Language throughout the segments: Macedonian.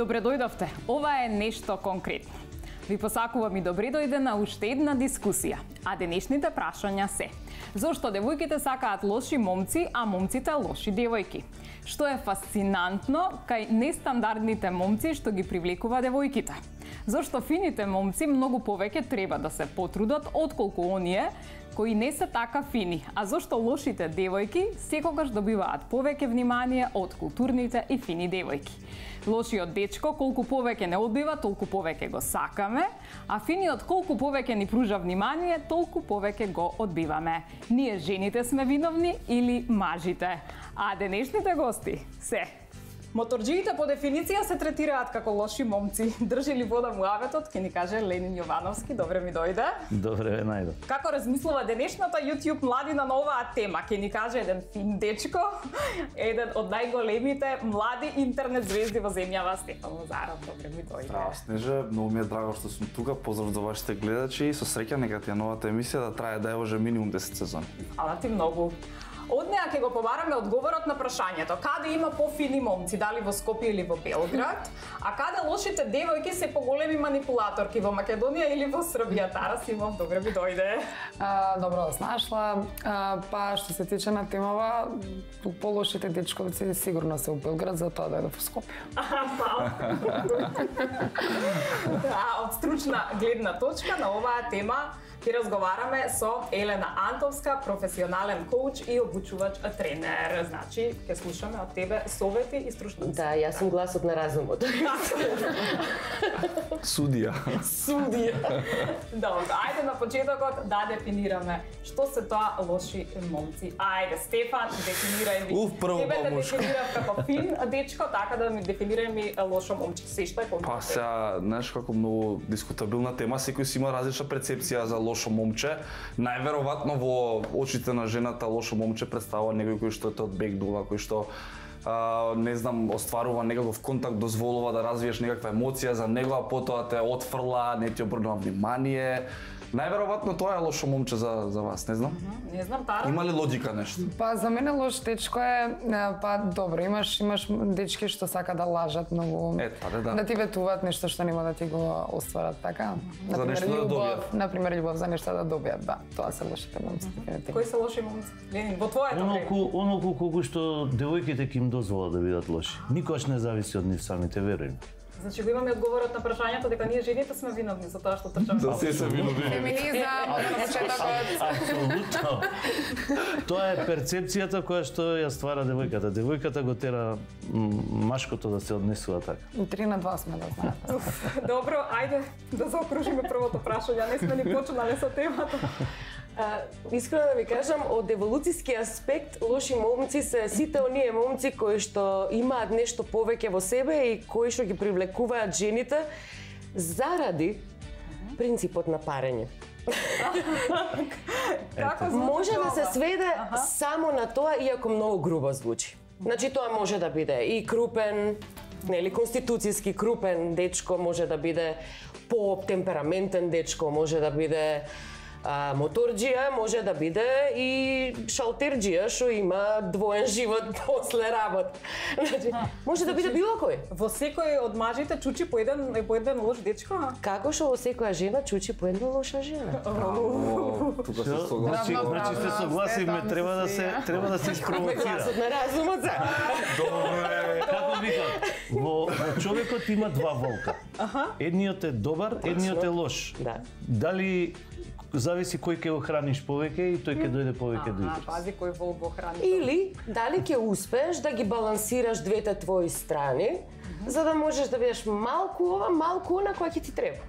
Добре дојдовте. Ова е нешто конкретно. Ви посакувам и добре дојде на уште една дискусија. А денешните прашања се: зошто девојките сакаат лоши момци, а момците лоши девојки? Што е фасцинантно кај нестандардните момци што ги привлекува девојките? Зошто фините момци многу повеќе треба да се потрудат отколку оние кои не се така фини, а зошто лошите девојки секогаш добиваат повеќе внимание од културните и фини девојки? Лошиот дечко колку повеќе не одбива, толку повеќе го сакаме, а финиот колку повеќе ни пружа внимание, толку повеќе го одбиваме. Ние жените сме виновни или мажите? А денешните гости се: моторџиите по дефиниција се третираат како лоши момци. Држи ли вода муаветот, ќе ни каже Ленин Јовановски. Добре ми дојде. Добре ве најдов. Како размислува денешната YouTube младина на оваа тема? Ќе ни каже еден фин дечко, еден од најголемите млади интернет звезди во земјава, Стефан Лазаров. Добре ми дојде. Здраво, Снеже, многу ми е драго што сум тука. Поздрав за вашите гледачи и со среќа нека ти е новата емисија да трае да може минимум 10 сезони. Фала ти многу. Од неа ќе го побараме одговорот на прашањето: каде има пофини момци, дали во Скопје или во Белград, а каде лошите девојки се поголеми манипулаторки, во Македонија или во Србија? Тара Симов, добре ми дојде. Добро да снашла. Па што се тиче на темава, полошите дечковци сигурно се во Белград, затоа дојде во Скопје. Од стручна гледна точка на оваа тема ќе разговараме со Елена Антовска, професионален коуч и обучувач тренер. Значи, ќе слушаме од тебе совети и стручност. Да, јас сум гласот на разумот. Судија. Судија. Добро, ајде на почетокот да дефинираме што се тоа лоши момци. Ајде, Стефан, дефинирај ми. Прво тебе те помош. дефинирав како фин дечко, така да ми дефинирај ми лошо момче. Се што е помош? Па сега, знаеш како многу дискутабилна тема, секој си има различна перцепција за лошо момче. Најверојатно во очите на жената лошо момче представува некој кој што те одбегнува, кој што не знам, остварува некаков контакт, дозволува да развиеш некаква емоција за него, а потоа те отфрла, не ти обрнува внимание. Најверојатно тоа е лошо момче за вас, не знам. Не знам, Тара. Има ли логика нешто? Па за мене лош дечко е, па добро, имаш дечки што сака да лажат многу. Да ти ветуваат нешто што нема да ти го остварат, така? За нешто да добијат. Например, љубов за нешто да добијат, да. Тоа се лошите момци. Кои се лоши момци? Ленин, во твоето време. Оноку колку што девојките ќе им дозволат да бидат лоши. Никош не зависи од нив самите, веруjem. Значи го имаме одговорот на прашањето дека ние жените сме виновни за тоа што трчаме. Да, се виновни. Феминизам, Апсолутно. Тоа е перцепцијата која што ја ствара девојката. Девојката го тера машкото да се однесува така. 3 на 2 сме, да знаете. Добро, ајде да заокружиме првото прашање. Не сме ни почнале со темата. Искрено да ви кажам, од еволуцијски аспект, лоши момци се сите оние момци кои што имаат нешто повеќе во себе и кои што ги привлекуваат жените заради принципот на парење. Може да се сведе само на тоа, иако многу грубо звучи. Значи тоа може да биде и крупен, нели конституцијски крупен дечко, може да биде по-темпераментен дечко, може да биде моторџија, може да биде и шалтерџија што има двоен живот после работа. Значи, може да биде било кој. Во секој од мажите чучи по еден лош дечко, а? Како што во секоја жена чучи по една лоша жена. Тука се согласувам. Значи се согласиме, треба да се испровоцира. Гласот на разумот за. Добре. Како викам, во човекот има два волка. Едниот е добар, едниот е лош. Да. Дали зависи кој ќе го храниш повеќе и тој ќе дојде повеќе до израз. Пази кој волк го храни. Или дали ќе успееш да ги балансираш двете твои страни, за да можеш да бидеш малку ова, малку она која ќе ти треба.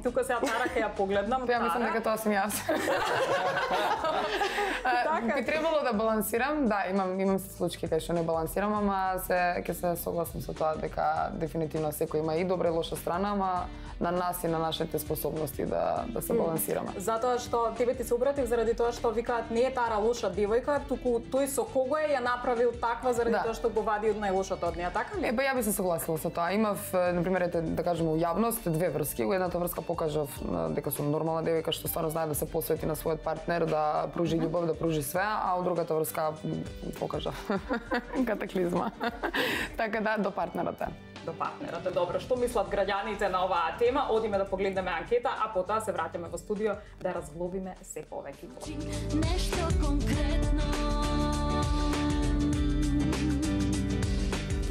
Тука се Тара ќе ја погледнам. Ја мислам дека тоа сум јас. Би требало да балансирам, да, имам случаи кај што не балансирам, ама ќе се согласам со тоа дека дефинитивно секој има и добра и лоша страна, ама на нас и на нашите способности да се балансираме. Затоа што тебе ти се обратив заради тоа што викаат не е Тара лоша девојка, туку тој со кого ја направил таква заради тоа што го вади од најлошото од неа, така ли? Па ја би се согласила со тоа. Имав, например, да кажеме, у јавност две врски. Во едната врска покажав дека сум нормална девојка што стварно знае да се посвети на својот партнер, да пружи љубов, да пружи све, а од другата врска покажав катаклизма. Така да, до партнерот е. до партнерот. Добро, што мислат граѓаните на оваа тема? Одиме да погледнеме анкета, а потоа се враќаме во студио да разглобиме се повеќе. Нешто конкретно.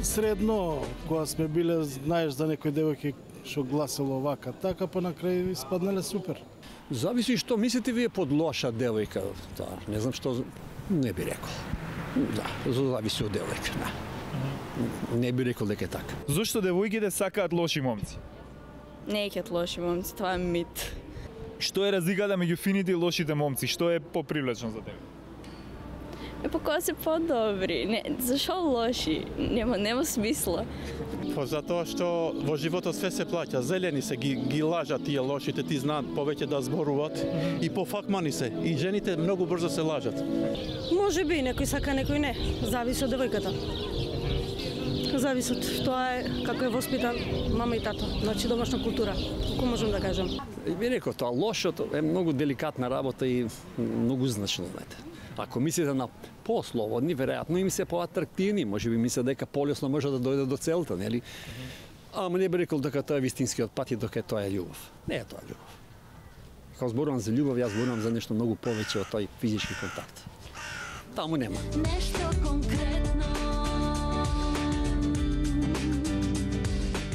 Средно, кога сме биле, знаеш за некои девојки што гласило вака, така, па на крај испаднале супер. Зависи што мислите вие под лоша девојка. Да, не знам што не би рекол. Да, зависи од девојка, да. Не би рекол дека е така. Зошто девојките сакаат лоши момци? Не е лоши момци, тоа е мит. Што е разликата меѓу фините и лошите момци? Што е попривлечно за тебе? Па кога се подобри, зашо лоши? Нема смисла. Па затоа што во животот све се плаќа. Зелени се ги лажат тие лошите, ти знаат повеќе да зборуваат и пофакмани се. И жените многу брзо се лажат. Може би некој сака, некој не. Зависи од девојката. Зависи од тоа е како е воспитан мама и тато. Значи домашна култура. Како можам да кажам? Би рекол тоа лошото е многу деликатна работа и многу значно, знаете. Ако мислите на послободни, веројатно им се поатрактивни, може би мислят дека полесно може да дојде до целта, нели? Ама не би рекол дека тоа е вистинскиот пат и дека тоа е љубов. Не е тоа љубов. Кога зборувам за љубов, јас зборувам за нешто многу повеќе од тој физички контакт. Таму нема. Нешто конкретно.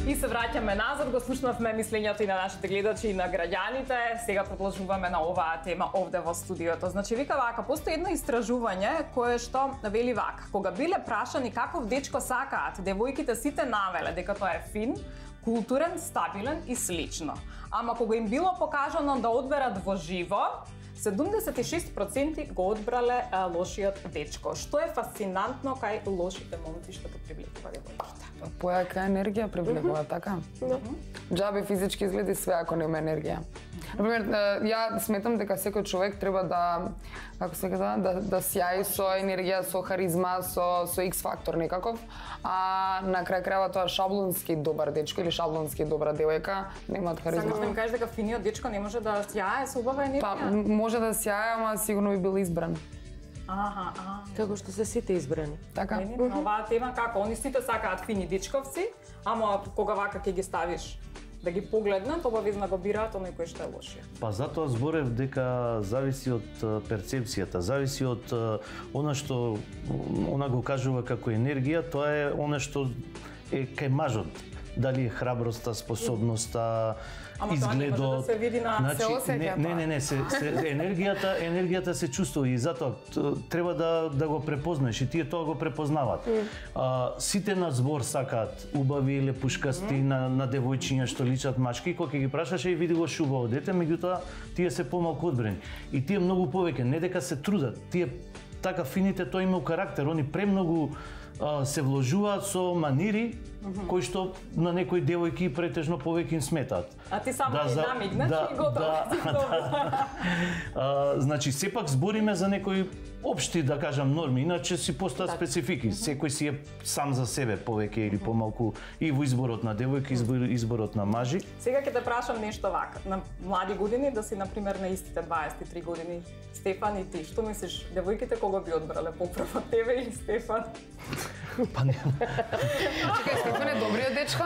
И се враќаме назад, го слушнавме мислењето и на нашите гледачи и на граѓаните. Сега продолжуваме на оваа тема овде во студиото. Значи, вика вака, постои едно истражување кое што вели вака. Кога биле прашани каков дечко сакаат, девојките сите навеле дека тоа е фин, културен, стабилен и слично. Ама кога им било покажано да одберат во живо, 76% го одбрале лошиот дечко. Што е фасцинантно кај лошите момци што ги привлекува девојките? Појака енергија привлекува, така? Џабе физички изгледи све ако нема енергија. Например, ја сметам дека секој човек треба да, како се кажа, да сјаи со енергија, со харизма, со X фактор некаков, а на крај крајава тоа шаблонски добар дечко или шаблонски добра девојка немаат харизма. Сакаш да ми кажеш дека финиот дечко не може да сјае со убава енергија? Па, може да сјае, ама сигурно би бил избран. Како што се сите избрани. Така. На оваа тема како они сите сакаат фини дечковци, ама кога вака ќе ги ставиш да ги погледнат, обавезно го бираат оној кој што е лошиот. Па затоа зборев дека зависи од перцепцијата, зависи од она што она го кажува како енергија, тоа е она што е кај мажот. Дали е храброста, способноста, изгледот. Ама тоа не може да се види на се осеќа. Енергијата се чувствува и затоа треба да го препознаеш и тие тоа го препознаваат. Сите на збор сакаат убави, лепушкасти на девојчиња што личат мачки, кога ќе ги прашаше и види го шубаво дете, меѓутоа тие се помалку одбрани. И тие многу повеќе, не дека се трудат, тие така фините тоа имаат карактер, они премногу се вложуваат со манири кои што на некои девојки претежно повеќе им сметаат. А ти само ги намигнеш и готово. Значи сепак збориме за некои општи, да кажам, норми, иначе си постојат специфики. Секој си е сам за себе повеќе или помалку и во изборот на девојки, изборот на мажи. Сега ќе те прашам нешто вака. На млади години, да си например на истите 23 години, Стефан и ти, што мислиш, девојките кога би одбрале поправа, тебе или Стефан? Па не. Чекај, Стефан е добриот дечко?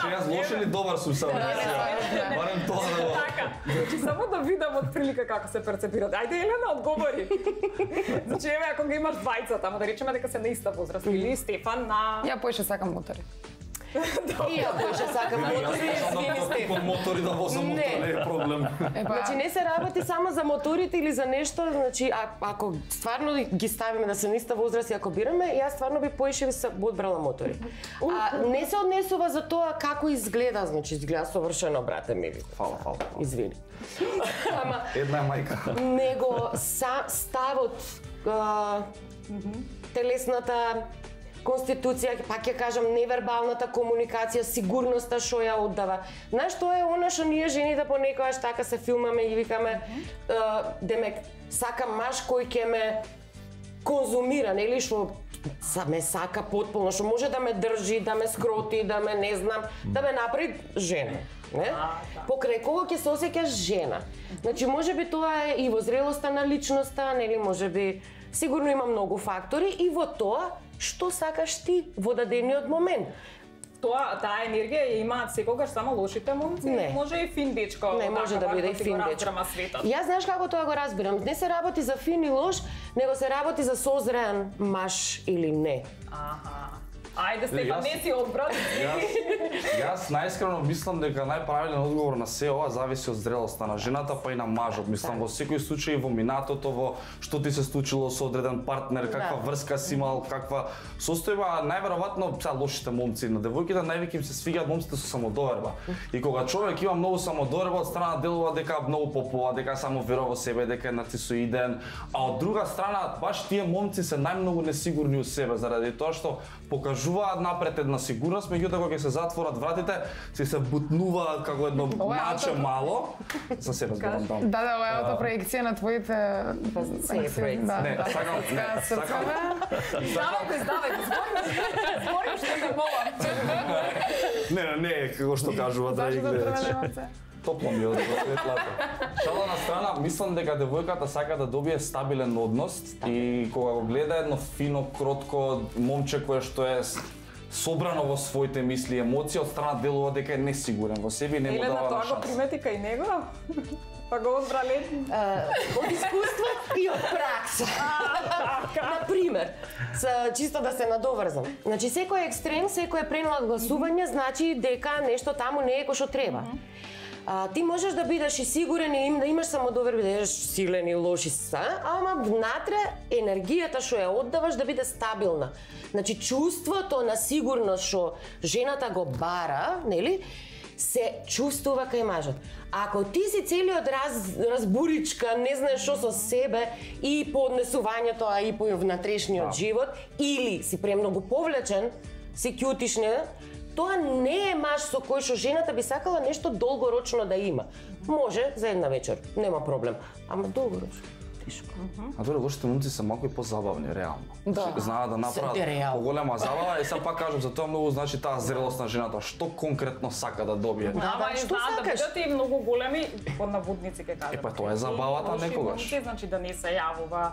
Че јас лош или добар сум само? Барем тоа да го... Така, значи само да видам од прилика како се перцепираат. Ајде, Елена, одговори. Значи, еве, ако ги имаш двајцата, ама да речеме дека се на иста возраст, или Стефан на... Ја поише сакам мотори. И ја поише сакам мотори, извини Стефан. Мотори да возам мотор, не е проблем. Значи не се работи само за моторите или за нешто, значи ако стварно ги ставиме да се на иста возраст и ако бираме, јас стварно би поише би се одбрала мотори. Не се однесува за тоа како изгледа, значи изгледа совршено, брате ми. Фала. Извини. Ама една мајка. Него ставот, телесната конституција, пак ќе кажам, невербалната комуникација, сигурноста што ја оддава. Знаеш, тоа е она што ние жените понекогаш така се филмаме и викаме, демек, сакам маж кој ќе ме конзумира, нели, што ме сака потполно, што може да ме држи, да ме скроти, да ме не знам, да ме направи жена. Не? Покрај кого ќе се осеќаш жена. Значи, може би тоа е и во зрелоста на личноста, нели, може би, сигурно има многу фактори и во тоа што сакаш ти во дадениот момент. таа енергија ја имаат секогаш само лошите момци? Не. Може и фин дечко. Не може да биде и фин дечко. Јас знаеш како тоа го разбирам. Не се работи за фин и лош, него се работи за созреан маж или не. Ајде, Стефан, не си одбрат. Јас најискрено мислам дека најправилен одговор на се ова зависи од зрелоста на жената, па и на мажот. Мислам во секој случај, во минатото, во што ти се случило со одреден партнер, каква врска си имал, каква состојба, најверојатно са лошите момци на девојките, највеќе им се свигаат момците со самодоверба. И кога човек има многу самодоверба, од страна делува дека многу попова, дека само верува во себе, дека е нарцисоиден, а од друга страна баш тие момци се најмногу несигурни у себе заради тоа што покажуваат напред една сигурност, меѓутоа кога ќе се затворат вратите, се бутнуваат како едно наче мало за себе зборам таму. Да, ова е аутопроекција на твоите Не, сакам. Збори што те молам. Не, како што кажува драги гледачи. Топло ми од светлата. Шала на страна, мислам дека девојката сака да добие стабилен однос и кога го гледа едно фино, кротко момче кое што е собрано во своите мисли и емоции, од страна делува дека е несигурен во себе и не му дава Елена, тоа шанса. го примети кај него? Па го одбрале? Од искуство и од пракса. Например, чисто да се надоврзам. Значи, секој екстрем, секој пренадгласување значи дека нешто таму не е кој што треба. Ти можеш да бидеш и сигурен и да имаш самодоверба, да бидеш силен и лоши ама внатре енергијата што ја оддаваш да биде стабилна. Значи чувството на сигурност што жената го бара, нели, се чувствува кај мажот. Ако ти си целиот разбуричка, не знаеш што со себе и по однесувањето, а и по внатрешниот живот, или си премногу повлечен, си кјутишне, тоа не е маж со кој што жената би сакала нешто долгорочно да има. Може за една вечер, нема проблем, ама долгорочно тешко. А добро, лошите момци се малку и позабавни, реално. Да. Знаат да направат поголема забава и сам пак кажам за тоа многу значи таа зрелост на жената, што конкретно сака да добие. Ама и знаат да бидат и многу големи под наводници ке кажат. Па тоа е забавата некогаш. Лоши момци, значи да не се јавува,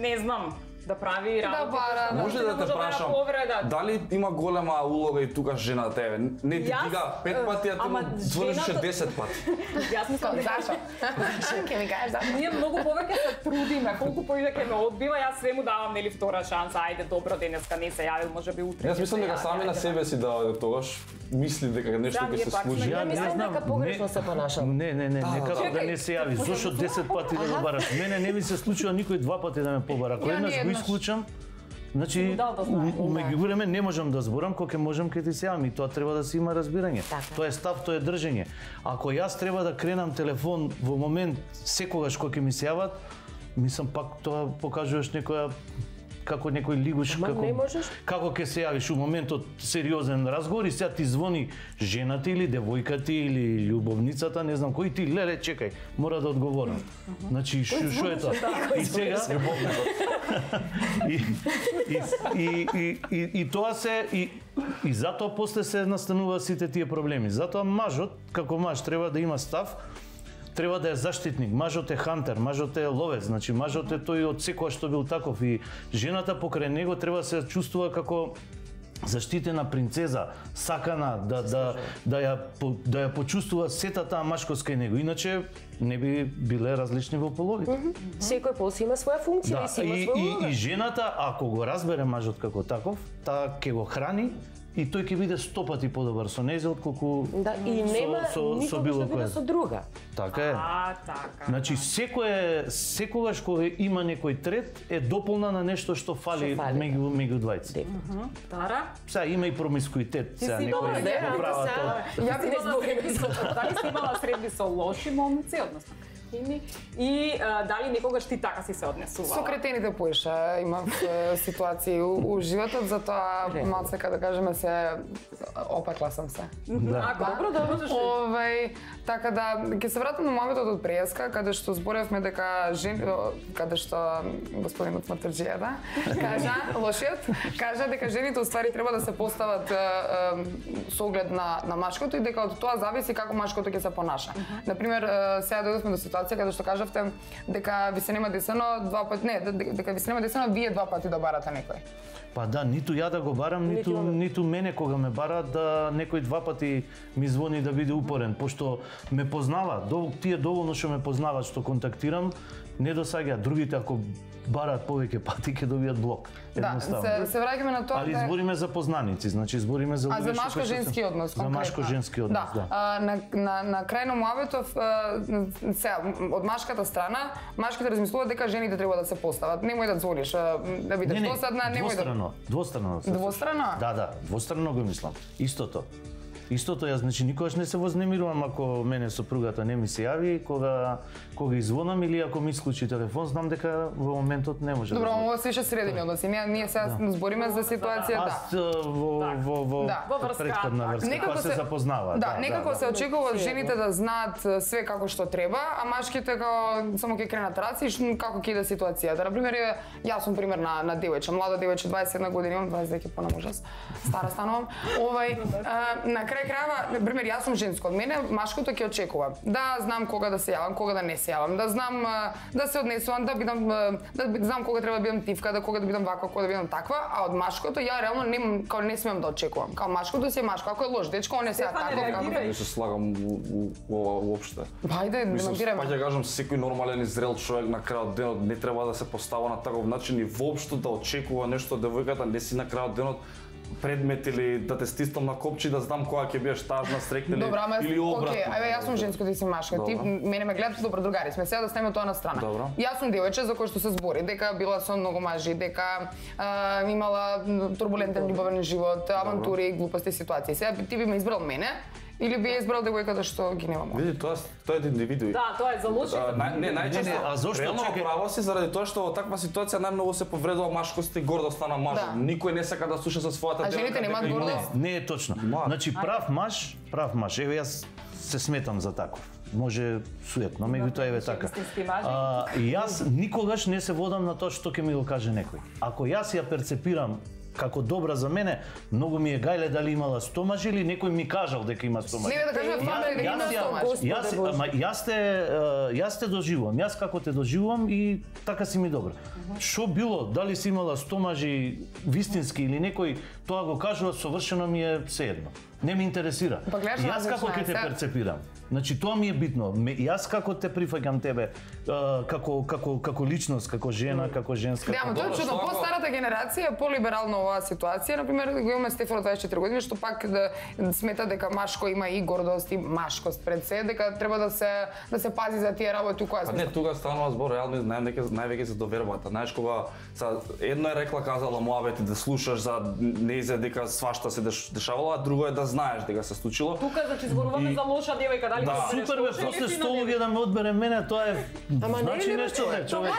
не знам, да прави работа. Може да те прашам, дали има голема улога и тука жената еве? Не ти дига 5 пати, а ти звониш 10 пати. Јас мислам зашо? Ќе ми кажеш зашо? Ние многу повеќе се трудиме, колку повеќе ме одбива, јас све му давам нели втора шанса. Ајде, добро, денеска не се јавил, можеби утре. Јас мислам дека сами на себе си да тогаш мисли дека нешто ќе се случи. Ја мислам дека погрешно се понашам. Не, некако да не се јави. Зошто 10 пати да го бараш? Мене не ми се случува никој 2 пати да ме побара. Кој еднаш го исклучам, значи меѓу време не можам да зборам, кога ќе можам ќе ти се јавам и тоа треба да се има разбирање. Тоа е став, тоа е држење. Ако јас треба да кренам телефон во момент секогаш кога ќе ми се јават, мислам пак тоа покажуваш некоја како некој лигуш, како ќе се јавиш у моментот сериозен разговор и сега ти звони жената или девојката или љубовницата, не знам кој ти, леле, чекај, мора да одговорам. Значи, што е тоа? И сега и тоа се и затоа после се настануваат сите тие проблеми. Затоа мажот, како маж, треба да има став, треба да е заштитник. Мажот е хантер, мажот е ловец, значи мажот е тој од секоја што бил таков и жената покрај него треба да се чувствува како заштитена принцеза, сакана да ја почувствува сета таа машкост кај него. Иначе не би биле различни во половите. Секој пол си има своја функција и си има своја улога. И жената, ако го разбере мажот како таков, таа ќе го храни и тој ќе биде 100 пати подобар со нејзе отколку и нема никогаш да биде со друга. Така е. Така. Значи секогаш кога има некој трет е дополна на нешто што фали меѓу двајците. Тара? Сега има и промискуитет, сега некој го прават тоа. Ја би дали си имала средби со лоши момци, односно и дали некогаш ти така си се однесувала? Со кретените поише имав ситуации у животот, затоа малце, да кажеме, се опекла сам се. Ако добро да можеш. Така да, ќе се вратам на моментот од преска, каде што зборевме дека каде што господинот Матарџијата кажа дека жените уствари треба да се постават со оглед на машкото и дека од тоа зависи како машкото ќе се понаша. Например, сега дојдовме до ситуација каде што кажавте дека ви се нема десено дека ви се нема десено вие два пати да барате некој. Па да, ниту ја да го барам, ниту мене кога ме бараат да некој два пати ми звони да биде упорен, пошто ме познава, тие доволно што ме познаваат, што контактирам, не досаѓа. Другите ако бараат повеќе пати ќе добијат блок. Да, се враќаме на тоа. Али збориме за познаници, значи збориме за за машко-женски однос конкретно. За машко-женски однос, да. На крај на муабетов од машката страна, машките размислуваат дека жените треба да се постават. Немој да звониш, да бидеш досадна, немој да Двострано. Двострано? Да, двострано го мислам. Истото, јас значи никогаш не се вознемирувам ако мене сопругата не ми се јави, кога извонам или ако ми исклучи телефон, знам дека во моментот не може. Добро, ова се средини односи. Ние сега збориме за ситуација, Аз во претходна врска, кога се запознава. Да, некако се очекува од жените да знаат све како што треба, а машките како само ќе кренат раци како ќе иде ситуацијата. На пример, јас сум пример на девојче, млада девојче, 21 години имам, 22 понам ужас. Стара станувам. На крај крајва, например, јас сум женско, од мене машкото ќе очекува да знам кога да се јавам, кога да не се јавам, да знам да се однесувам, да знам кога треба да бидам тивка, да кога да бидам ваква, кога да бидам таква, а од машкото ја реално не смеам да очекувам. Као машкото си е машко, ако е лош дечко, он е сега таков. Не се слагам ова уопште. Ајде, демонтираме. Па ќе кажам, секој нормален и зрел човек на крајот денот не треба да се постава на таков начин и воопшто да очекува нешто од девојката, не си на крајот денот предмет или да те стискам на копче да знам кога ќе бидеш тажна, срекна или обратно. Окей, ајде јас сум женско, ти си машка. Ти мене ме гледате добро другари сме. Сега да ставиме тоа на страна. Добро. Јас сум девојче за кој што се збори дека била со многу мажи, дека имала турбулентен љубовен живот, авантури, глупости ситуации. Сега ти би ме избрал мене или би избрал девојката што ги нема мој? Види, тоа е индивидуи. Да, тоа е за лоши. Не, најчесто. А зошто право си заради тоа што во таква ситуација најмногу се повредува машкост и гордоста на мажот. Никој не сака да слуша со својата девојка. А жените немаат гордост? Не е точно. Значи прав маж, еве јас се сметам за таков. Може суетно, меѓутоа еве така. Јас никогаш не се водам на тоа што ќе ми го каже некој. Ако јас ја перцепирам како добра за мене, многу ми е гајле дали имала 100 мажи или некој ми кажал дека има 100 мажи. Не да кажам дека има 100 мажи. Јас те доживувам, јас како те доживувам и така си ми добра. Што било, дали си имала 100 мажи вистински или некој тоа го кажува, совршено ми е сеедно. Не ме интересира. Јас како ќе те перцепирам. Значи тоа ми е битно. Јас како те прифаќам тебе како личност, како жена, како женска. Да, тоа е чудно. По-старата генерација е полиберална оваа ситуација. Например, го имаме Стефано 24 години што пак да смета дека машко има и гордост и машкост пред се, дека треба да се пази за тие работи која се. Не, тука станува збор реално највеќе за довербата. Знаеш кога едно е рекла казала муабет да слушаш за неизе дека свашта се дешавало, а друго е да знаеш дека се случило. Тука значи зборуваме за лоша девојка, дали да, супер бе, после 100 луѓе да ме одбере мене, тоа е значи нешто бе, човече.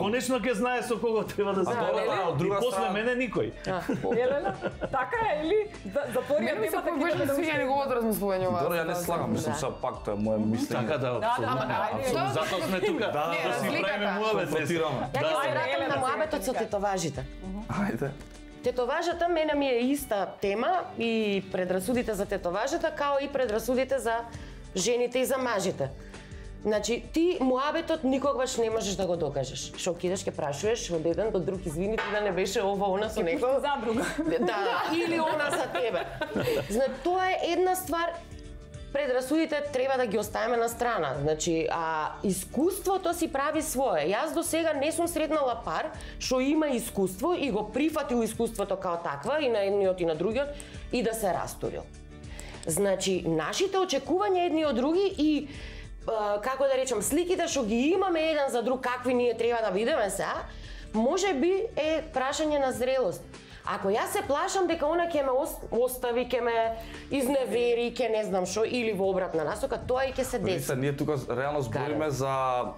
Конечно ќе знае со кого треба да се и после мене никој. Елена, така е или затворија тема дека беше да свиѓа неговото размислување ова. Добро, ја не слагам, мислам се пак тоа е моје мислење. Така да, затоа сме тука да си правиме муабет. Ја ќе се вратам на муабетот со тетоважите. Ајде. Тетоважата мене ми е иста тема и предрасудите за тетоважата као и предрасудите за жените и за мажите. Значи, ти муабетот никогаш не можеш да го докажеш. Што кидеш, ќе прашуваш од еден до друг, извини ти да не беше ова, она со некој. За друга. Да, или она за тебе. Значи, тоа е една ствар, предрасудите треба да ги оставиме на страна. Значи, искуството си прави свое. Јас до сега не сум сретнала пар што има искуство и го прифатил искуството као таква и на едниот и на другиот и да се растурил. Значи, нашите очекувања едни од други и како да речам, сликите што ги имаме еден за друг, какви ние треба да бидеме сега, може би е прашање на зрелост. Ако јас се плашам дека она ќе ме остави, ќе ме изневери, ќе не знам што, или во обратна насока, тоа и ќе се деси. Ние тука реално збориме за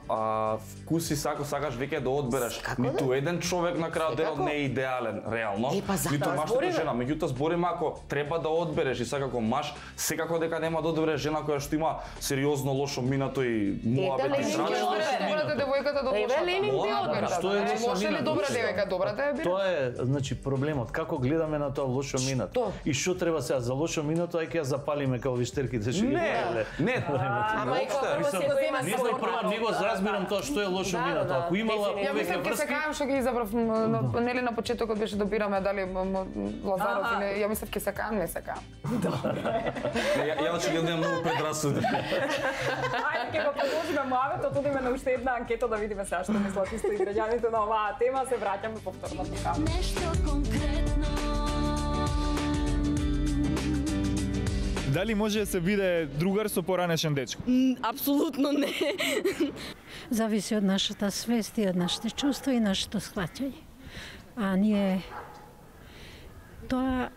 вкуси, сакаш веќе да одбереш. Ниту еден човек на крајот денот не е идеален, реално. Ниту машната жена, меѓутоа збориме ако треба да одбереш и секако маж, секако дека нема да одбереш жена која што има сериозно лошо минато и муабет и страна. Добрата девојката до лошата. Ленин би одбрал. Што е Лоша или добра девојка? Добрата е бира. Тоа е, значи, проблемот. Како гледаме на тоа лошо минато? И што треба сега за лошо минато, ај ќе ја запалиме како виштерките што ги гледале. Не, ама и кога секој има свој прво него разбирам тоа што е лошо минато. Ако имала Ја мислам ќе се кажам што ги избрав, нели на почетокот беше добираме дали Лазаров или ја мислам ќе се кажам, не се кажам. Ја очигледно имам многу предрасуди. Ајде ќе го продолжиме муабетот, одиме на уште една анкета да видиме сега што мислат исто и граѓаните на оваа тема, се враќаме повторно тука. Нешто конкретно. Дали може да се биде другар со поранешен дечко? Апсолутно не. Зависи од нашата свест и од нашите чувства и нашето схваќање. А ние тоа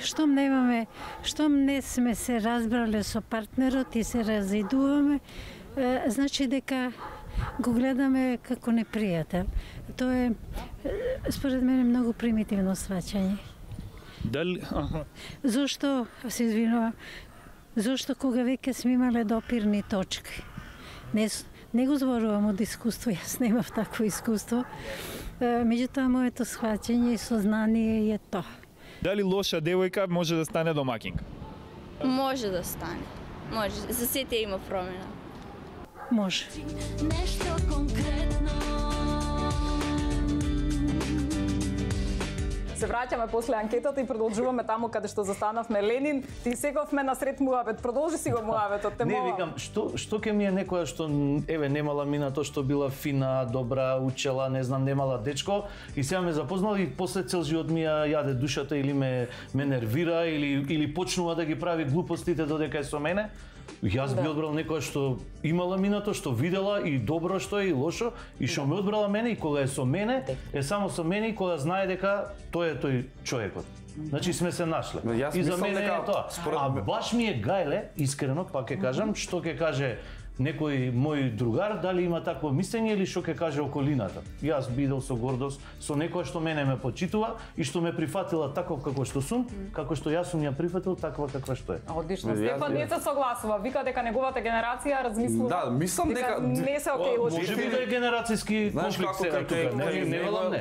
штом не сме се разбрале со партнерот и се разидуваме, значи дека го гледаме како непријател. Тоа е, според мене, многу примитивно сваќање. Дали? Зошто, се извинувам, зошто кога веќе сме имале допирни точки? Не го зборувам од искуство, јас немав такво искуство. Меѓутоа, моето сваќање и сознание е тоа. Дали лоша девојка може да стане домакинка? Може да стане. Може. За сите има промена. Може. Нешто конкретно. Се враќаме после анкетата и продолжуваме таму каде што застанавме. Ленин, ти сеговме на сред муабет. Продолжи си го муабетот, те Не, викам, што ќе ми е некоја што немала минато, што била фина, добра, учела, не знам, немала дечко и сега ме запознала и после цел живот ми ја јаде душата или ме нервира или почнува да ги прави глупостите додека е со мене. Јас би одбрал некоја што имала минато, што видела и добро што е и лошо и што ме одбрала мене и кога е со мене, е само со мене и кога знае дека тој е тој човекот. Значи сме се нашле. И за мене е тоа. А баш ми е гајле, искрено, пак ќе кажам, што ќе каже некој мој другар, дали има такво мислење или што ќе каже околината. Јас би идел со гордост, со некоја што мене ме почитува и што ме прифатила таков како што сум, како што јас сум ја прифатил таква каква што е. Одлично. Стефан не се согласува, вика дека неговата генерација размислува. Да, мислам дека не се окей лоши. Може би да е генерацијски конфликт сега тука.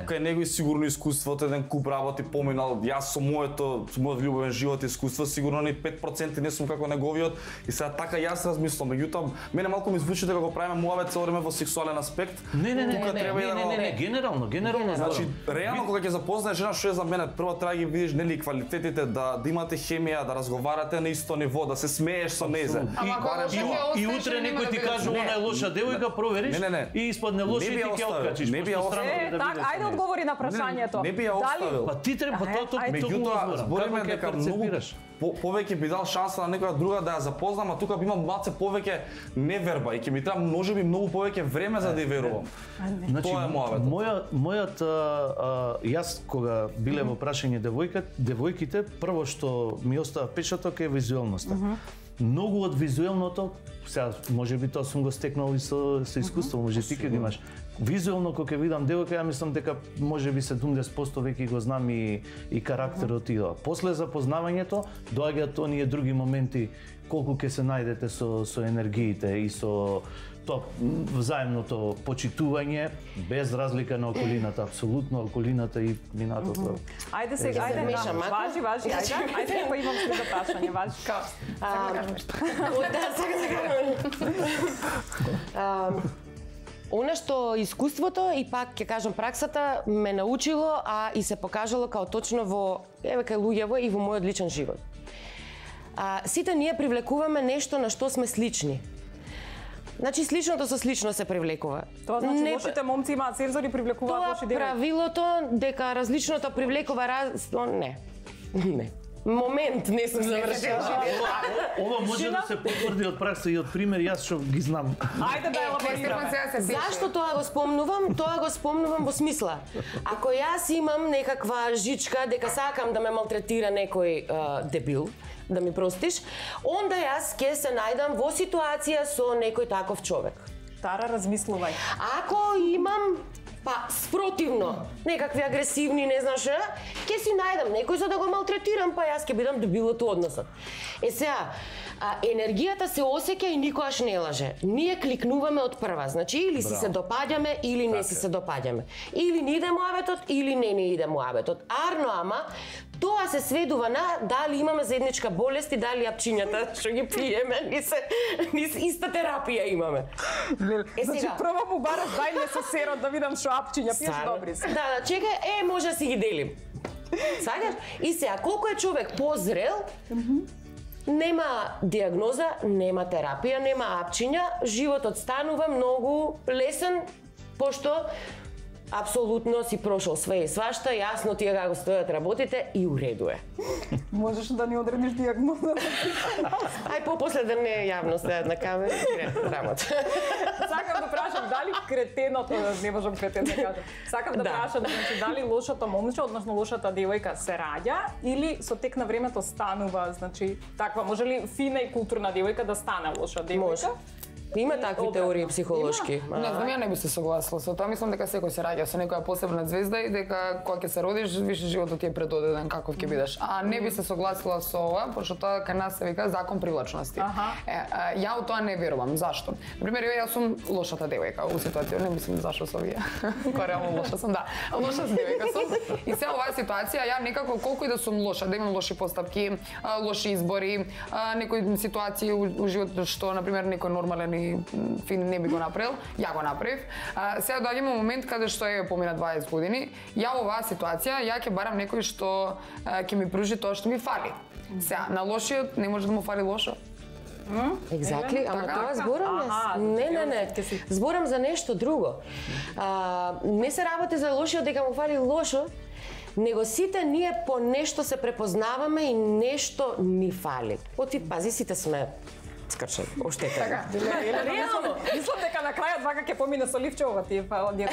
Кај него сигурно искуството, еден куп работи поминал, јас со мојот љубовен живот искуство, сигурно ни 5% не сум како неговиот и сега така јас размислам, меѓутоа мене малку ми звучи дека го правиме муабет цело време во сексуален аспект. Не, генерално. Значи, реално кога ќе запознаеш жена што е за мене, прво треба да ги видиш нели квалитетите, да имате хемија, да разговарате на исто ниво, да се смееш со нејзе. И утре некој ти каже она е лоша девојка, провериш и испадне лоша и ти ќе откачиш. Не би ја оставил. Так, ајде одговори на прашањето. Не би ја оставил. Па ти треба тоа меѓутоа збориме дека многу повеќе би дал шанса на некоја друга да ја запознам, а тука би имам малце повеќе неверба и ќе ми треба можеби многу повеќе време за да ја верувам. Значи, тоа е мојот јас кога биле во прашање девојките, прво што ми остава печаток е визуелноста. Многу од визуелното, сега можеби тоа сум го стекнал и со искуство, може ти ќе го имаш. Визуелно кога ќе видам девојка, ја мислам дека можеби 70% веќе го знам и карактерот и тоа. После запознавањето доаѓаат оние други моменти колку ќе се најдете со енергиите и со тоа взаимното почитување без разлика на околината, апсолутно околината и минатото. Ајде сега, важи, ајде, па имам следно прашање, важи. Она што искуството и пак ќе кажам праксата ме научило, а и се покажало као точно во кај луѓево и во мојот личен живот. Сите ние привлекуваме нешто на што сме слични. Значи сличното со слично се привлекува. Тоа значи лошите момци имаат сензори, привлекуваат лоши девојки. Тоа правилото дека различното привлекува Не. Момент, не сум завршила. Ова може да се потврди од пракса и од пример, јас што ги знам. Ајде да елаборираме. Зашто тоа го спомнувам? Тоа го спомнувам во смисла. Ако јас имам некаква жичка дека сакам да ме малтретира некој дебил, да ми простиш, онда јас ќе се најдам во ситуација со некој таков човек. Тара, размислувај. Ако имам спротивно, некакви агресивни, не знаш, ќе си најдам некој за да го малтретирам, па јас ќе бидам дебилот у односот. Сега, енергијата се осеќа и никогаш не лаже. Ние кликнуваме од прва, значи или си се допаѓаме или не си се допаѓаме. Или ни иде муабетот или не ни иде муабетот. Арно ама тоа се сведува на дали имаме заедничка болест и дали апчињата што ги пиеме, ни иста терапија имаме. Значи прво му бараш дај ми со серот да видам што апчиња пиеш добри се. Да, чекај, може да си ги делим. Сакаш? И сега, колку е човек позрел, нема диагноза, нема терапија, нема апчиња, животот станува многу лесен, пошто апсолутно си прошол све и свашта, јасно тие како стојат работите и уреду е. Можеш да ни одредиш диагноза? Ај попосле да не јавно стојат на камера, работа. Сакам да прашам дали кретеното, не можам кретен да кажам. Сакам да прашам дали лошото момче, односно лошата девојка се раѓа или со тек на времето станува, значи таква, може ли фина и културна девојка да стане лоша девојка? Има такви теории психолошки. Не знам, ја не би се согласила со тоа. Мислам дека секој се раѓа со некоја посебна звезда и дека кога ќе се родиш, више животот ти е предодеден каков ќе бидеш. А не би се согласила со ова, пошто тоа кај нас се вика закон привлачности. Ја у тоа не верувам. Зашто? Например, јас сум лошата девојка у ситуација, не мислам зашто со вие. Кога реално лоша сум, да. Лоша девојка сум. И сега оваа ситуација ја некако колку и да сум лоша, да имам лоши постапки, лоши избори, некои ситуации у животот што на пример некој нормален фин не би го направил, ја го направив. Сега доаѓаме момент каде што е помина 20 години, ја во оваа ситуација ја ќе барам некој што ќе ми пружи тоа што ми фали. Сега на лошиот не може да му фали лошо. Екзактли, ама тоа зборам не. Зборам за нешто друго. Не се работи за лошиот дека му фали лошо, него сите ние по нешто се препознаваме и нешто ни фали. Пази, сите сме скрчени, оштетени. Така, реално. Мислам дека на крајот вака ќе помине со ливчовата тие диагнозата.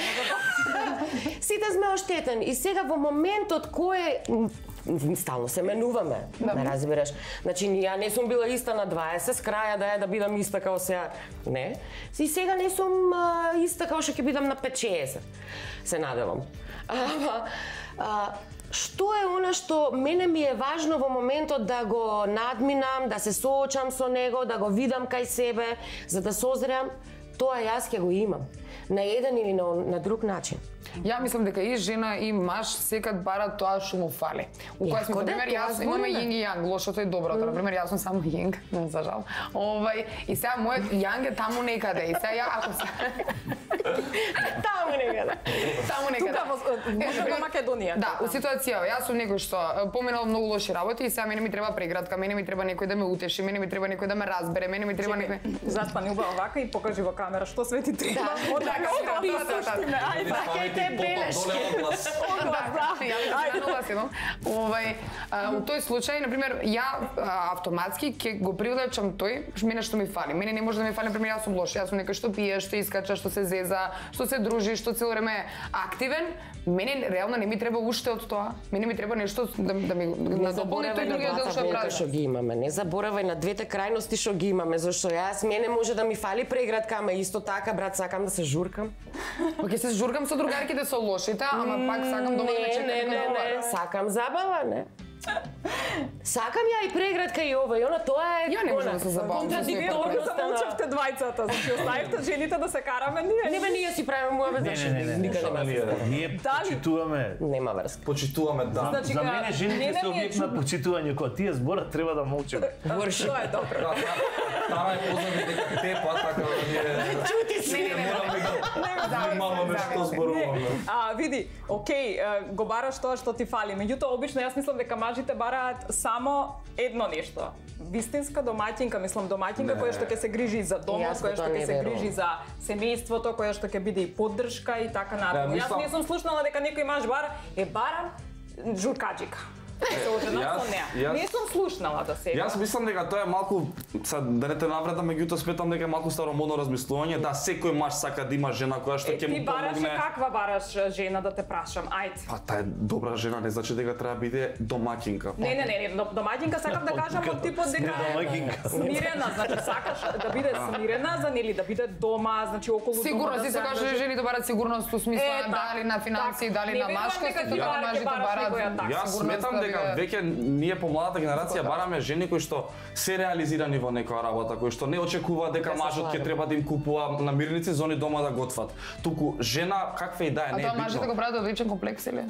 Сите сме оштетени и сега во моментот кој стално се менуваме, ме разбираш. Значи, ја не сум била иста на 20, с краја да бидам иста као сега, не. И сега не сум иста као што ќе бидам на 5-60, се надевам. Што е она што мене ми е важно во моментот да го надминам, да се соочам со него, да го видам кај себе, за да созреам, тоа јас ќе го имам. На еден или на друг начин. Ја мислам дека и жена и маж секад барат тоа што му фали. У која сме, например, јас имаме јинг и јанг, лошото и доброто. Например, јас сум само јинг, за жал. И сега мојот јанг е таму некаде. И сега ја ако се таму некаде. Тука во Македонија. Да, у ситуација, јас сум некој што поминал многу лоши работи и сега мене ми треба преградка, мене ми треба некој да ме утеши, мене ми треба некој да ме разбере, мене ми треба некој. Заспани убаво вака и покажи во камера што свети треба. Белешки. У тој случај, например, ја автоматски ќе го привлечам тој мене што ми фали. Мене не може да ми фали, например, јас сум лош, јас сум некој што пие, што искача, што се зеза, што се дружи, што цело време е активен. Мене реално не ми треба уште од тоа. Мене ми треба нешто да ми надополни тој другиот дел што прави. Што ги имаме, не заборавај на двете крајности што ги имаме, зашто јас мене може да ми фали преградка, ама исто така брат сакам да се журкам. Па ќе се журкам со другарките со лошите, ама пак сакам дома да ме чека. Не, сакам забава, не. Сакам ја и преградка и ова и она, тоа е. Ја не можам да се забавам. Контрадикторно се научавте двајцата, значи оставивте жените да се караме ние. Не, ние си правиме муабет, значи никаде не. Ние почитуваме. Нема врска. Почитуваме, да. За мене жените се објект на почитување, кога тие зборат треба да молчиме. Врши. Тоа е добро. Тара е познати дека те па така да ние. Чути си. Мало нешто зборуваме. Види, окей, го бараш тоа што ти фали. Меѓутоа обично јас мислам дека мажите бараат само едно нешто. Вистинска домаќинка, мислам домаќинка која што ќе се грижи за домот, која што ќе се грижи за семејството, која што ќе биде и поддршка и така натаму. Јас не сум слушнала дека некој маж барам журкаџика. Се оженам со неа. Не сум слушнала да сега. Јас мислам дека тоа е малку, да не те навредам, меѓутоа сметам дека е малку старомодно размислување, да секој маж сака да има жена која што ќе му помогне. Ти бараш каква бараш жена да те прашам, ајде. Па таа е добра жена, не значи дека треба да биде домаќинка. Не, домаќинка сакам да кажам од типот дека смирена, значи сакаш да биде смирена, за нели да биде дома, значи околу дома. Сигурно си се каже жени да барат сигурност во смисла дали на финансии, дали на машкост, така мажите барат. Јас сметам дека веќе ние помладата генерација бараме жени кои што се реализирани во некоја работа, кои што не очекуваат дека мажот ќе треба да им купува намирници за они дома да готват. Туку жена каква и да е, не е битно. А тоа мажите го прават од личен комплекс или?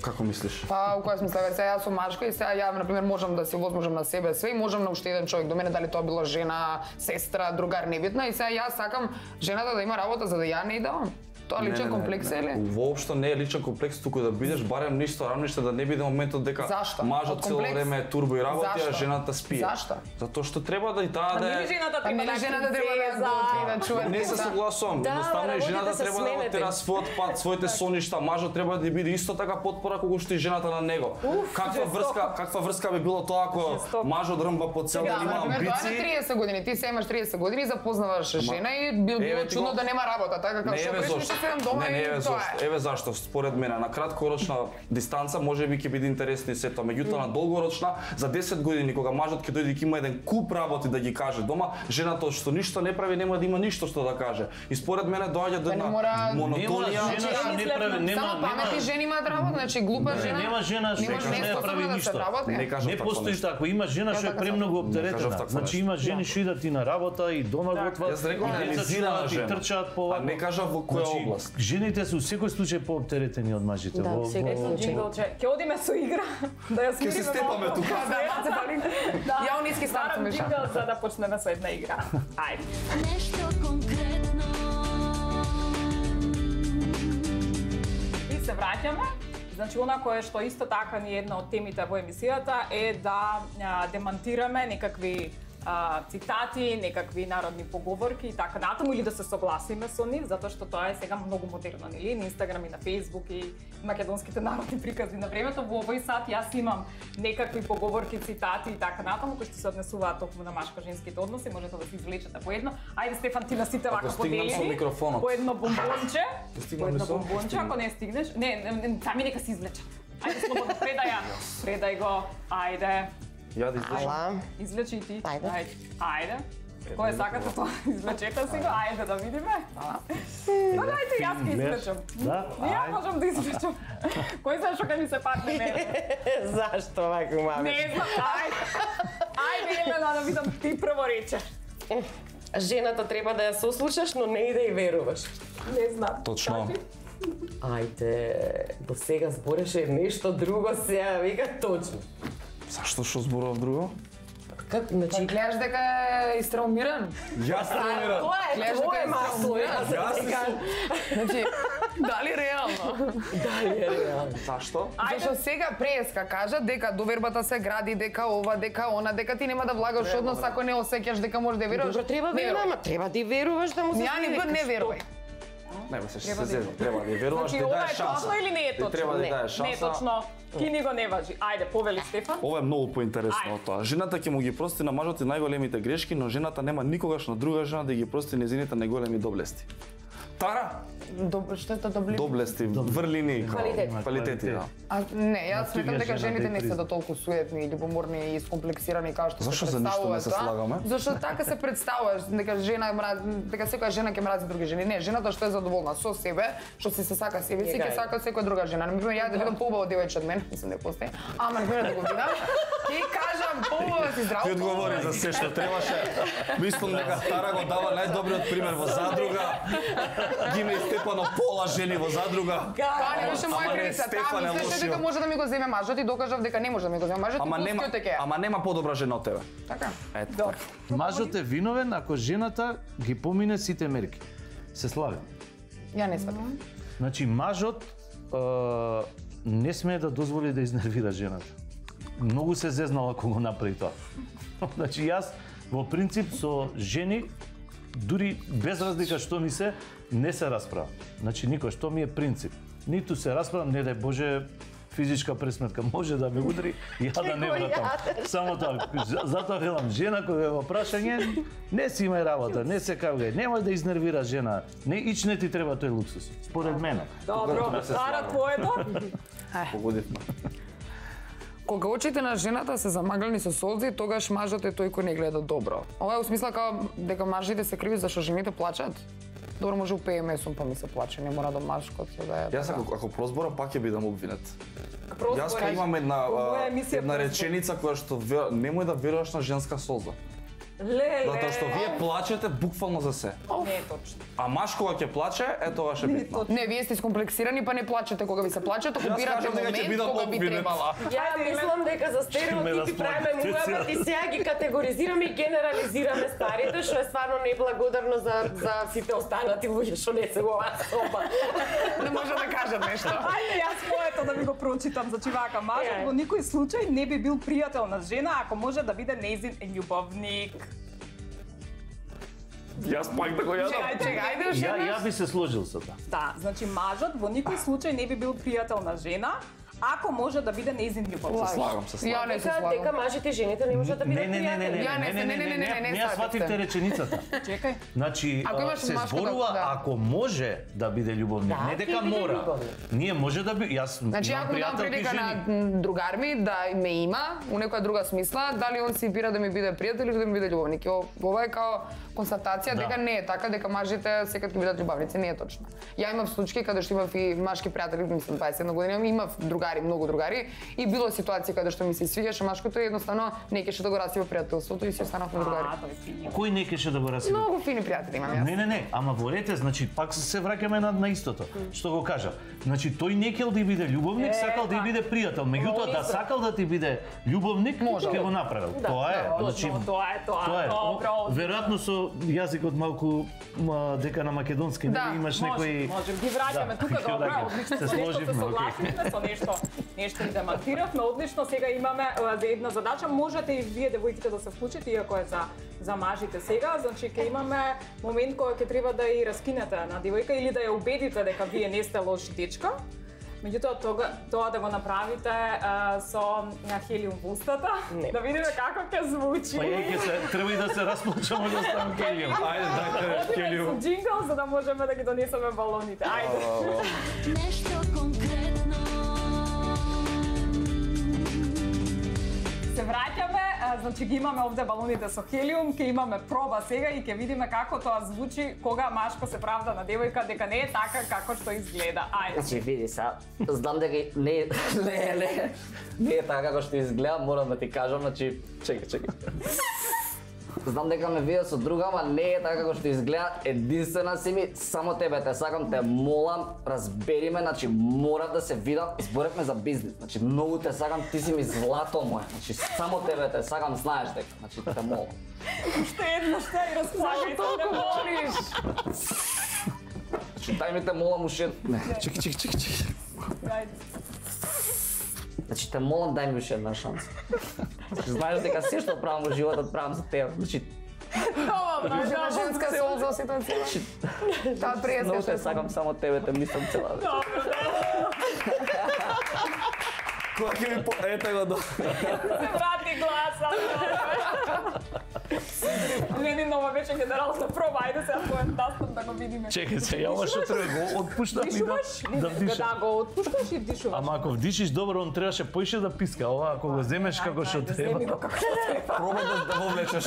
Како мислиш? Па, у која смисла, сега јас сум мажка и сега ја, например, можам да си возможам на себе све и можам на уште еден човек до мене, дали тоа било жена, сестра, другар, небитно, и сега јас сакам жената да има работа за да ја не идам. Тоа личен комплекс е ли? Воопшто не е личен комплекс, туку да бидеш барем ништо рамниште, да не биде моментот дека мажот цело време е турбо и работи, а жената спие. Зашто? Затоа што треба да и таа да е... Жената треба да готви, да чува. Не се согласувам. Едноставно и жената треба да отера својот пат, своите соништа, мажот треба да биде исто така потпора колку што и жената на него. Каква врска би било тоа ако мажот рмба по цел ден, има амбиции? Тоа е 30 години, ти се имаш 30 години, запознаваш жена и било чудно да нема работа, така како што пришли дома и тоа е. Еве зашто, според мене, на краткорочна дистанца можеби ќе биде интересно и сето, меѓутоа на долгорочна, за 10 години кога мажот ќе дојде и ќе има еден куп работи да ги каже дома, жената што ништо не прави нема да има ништо што да каже. И според мене доаѓа до една монотонија. Само паметни жени имаат работа, значи глупа жена. Нема жена што не прави ништо. Не постои што ако има жена што е премногу оптеретена. Значи има жени што идат и на работа и дома готват. Јас реков реализирана жена. Трчаат по не кажа во која област. Жените се во секој случај пооптеретени од мажите. Да, сега сум джинглче. Ќе одиме со игра, да ја смириме. Ќе се степаме тука. Ја униски старцам беше. За да почнеме со една игра. Ајде. Нешто конкретно. И се враќаме. Значи, она кое што исто така ни една од темите во емисијата е да демантираме некакви цитати, некакви народни поговорки и така натаму, или да се согласиме со нив, затоа што тоа е сега многу модерно, нели? На Инстаграм и на Фејсбук и македонските народни прикази на времето. Во овој сат јас имам некакви поговорки, цитати и така натаму кои што се однесуваат токму на машко-женските односи, можете да се извлечете по едно. Ајде Стефан, ти на сите вака подели. По едно бомбонче. По едно бомбонче, ако не стигнеш. Не, сами нека се извлечат. Ајде слободно, предај го. Ајде. Ја да извлечам. Извлечи и ти. Ајде. Кој сакате тоа? Извлечете си го. Ајде да видиме. Па дајте јас ќе извлечам. Ја можам да извлечам. Кој знае што ќе ми се падне мене? Зашто вака маме? Не знам. Ајде Елена да видам ти прво рече. Жената треба да ја сослушаш, но не и да ја веруваш. Не знам. Точно. Ајде, до сега збореше нешто друго, сега вика точно. Зашто што зборував друго? Как, значи, гледаш дека е истраумиран? Јас траумиран. Тоа е твое масло, јас. Значи, дали реално? Дали е реално? Зашто? Зашто сега преска кажа дека довербата се гради, дека ова, дека она, дека ти нема да влагаш однос ако не осеќаш дека можеш да веруваш. Добро, треба веруваш, треба да веруваш да му се Ја не верувај. Не, се зезам, треба да веруваш, да даеш шанса. Точно или не е точно? Треба да даеш шанса. Не е точно. Ки ни го не важи. Ајде, повели Стефан. Ова е многу поинтересно од тоа. Жената ќе му ги прости на мажот и најголемите грешки, но жената нема никогаш на друга жена да ги прости нејзините најголеми доблести. Тара? Што е тоа доблести? Доблести, врлини, квалитети, да. Не, јас сметам дека жените не се до толку суетни, љубоморни и скомплексирани како што се представуваат. Зашто за ништо не се слагаме? Зашто така се представуваш, дека жена дека секоја жена ќе мрази други жени. Не, жената што е задоволна со себе, што се сака себе си, ќе сака секоја друга жена. Например, ја да видам поубаво девојче од мене, мислам дека постои. Ама например да го видам, ќе кажам поубаво си здраво. Ти одговори за се што требаше. Мислам дека Тара го дава најдобриот пример во задруга. Ги ме Стефано пола жени во задруга. Тоа не беше моја крица. Таа мислеше дека може да ми го земе мажот и докажав дека не може да ми го земе мажот. Ама нема подобра жена од тебе. Така. Ето. Мажот е виновен ако жената ги помине сите мерки. Се славим. Ја не сватам. Значи мажот не смее да дозволи да изнервира жената. Многу се зезнал ако го направи тоа. Значи јас во принцип со жени дури без разлика што ми се, не се расправам. Значи никој, што ми е принцип. Ниту се расправам, не дај Боже, физичка пресметка може да ме удри, ја да не вратам. Само тоа. Затоа велам, жена кога е во прашање, не си имај работа, не се кавгај, немој да изнервира жена. Ич не ти треба тој луксус, според мене. Добро, Ара, твоето? Погодивме. Кога очите на жената се замаглени со солзи, тогаш мажот е тој кој не гледа добро. Ова е у смисла као дека мажите се криви зашто жените плачат. Добро, може упее месум па ми се плаче, не мора да машкото да е. Јас ако прозбора пак ќе бидам обвинет. Прозбора. Јас имам една реченица која што немој да веруваш на женска солза. Затоа што вие плачете буквално за се. Не е точно. А маш кога ќе плаче, е тоа ше битно. Не, вие сте искомплексирани па не плачете кога ви се плаче, току бирате момент кога би требала. Ја мислам дека за стереотипи правиме муабет и сега ги категоризираме и генерализираме старите, што е стварно неблагодарно за сите останати луѓе што не се во оваа соба. Не може да кажат нешто. Ајде јас моето да ви го прочитам, значи вака, мажот во никој случај не би бил пријател на жена ако може да биде нејзин љубовник. Јас пак да го јадам. Чекај, Ја би се сложил со тоа. Да, значи мажот во никој случај не би бил пријател на жена ако може да биде нејзин љубовник. Се слагам. Ја не се слагам. Дека мажите и жените не можат да бидат пријатели. Не, ја свативте реченицата. Чекај. Значи, се зборува ако може да биде љубовник, не дека мора. Ние може да би, јас Значи, ако дам прилика на другар ми да ме има, у некоја друга смисла, дали он си бира да ми биде пријател или да ми биде љубовник. Ова е као констатација дека не е така, дека мажите секад ќе бидат љубавници, не е точно. Ја имав случаи каде што имав и машки пријатели, мислам 21 година, имав другари, многу другари и било ситуации каде што ми се свиѓаше машкото и едноставно не кеше да го расива пријателството и си останавме другари. Кој не кеше да го расива? Многу фини пријатели имам јас. Не, ама во рете, значи пак се враќаме на истото. Што го кажа? Значи тој не кел да биде љубовник, сакал да биде пријател. Меѓутоа да сакал да ти биде љубовник, ќе го направил. Тоа е, значи тоа е. Добро. Веројатно со јазикот малку дека на македонски не имаш некој. Можем ги враќаме тука, добро, одлично се сложивме, со нешто и демонтиравме, одлично. Сега имаме за една задача, можете и вие девојките да се вклучите, иако е за мажите сега, значи ќе имаме момент кој ќе треба да ја раскинете на девојка или да ја убедите дека вие не сте лош дечка. Меѓутоа тоа да го направите со хелиум во устата, да видиме како ќе звучи. Па ќе се треба и да се расплачаме да ставам хелиум. Ајде, дајте хелиум. Со джингл за да можеме да ги донесеме балоните. Ајде. Нешто конкретно. Се враќаме, значи ги имаме овде балоните со хелиум, ќе имаме проба сега и ќе видиме како тоа звучи кога машко се правда на девојка дека не е така како што изгледа. Ајде. Значи види са, знам дека не е така како што изгледа, морам да ти кажам, значи чекај. Знам дека ме виде со друга, ама не е така како што изгледа. Единствена си ми, само тебе те сакам, те молам, разбери ме, значи мора да се видам, зборевме за бизнис. Значи многу те сакам, ти си ми злато мое. Значи само тебе те сакам, знаеш дека, значи те молам. Уште едно што и расплакај, толку молиш. Значи дај ми те молам уште. Не, чекај. Значи те молам, дај ми уште една шанса. Знаеш дека се што правам во животот правам за тебе. Значи на женска солза ситуација. Таа пријател. Многу те сакам, само тебе те мислам цела вечер. Кога ќе ми ете го до. Се врати гласа. Ленинова вече генерална проба, ајде сега поем тастам да го видиме. Чекај се, ја ова што треба го отпуштам и да вдишам. Да го отпушташ и вдишуваш. Ама ако вдишиш добро, он требаше поише да писка. Ова ако го земеш како што треба. Земи го како што треба. Пробај да го влечеш.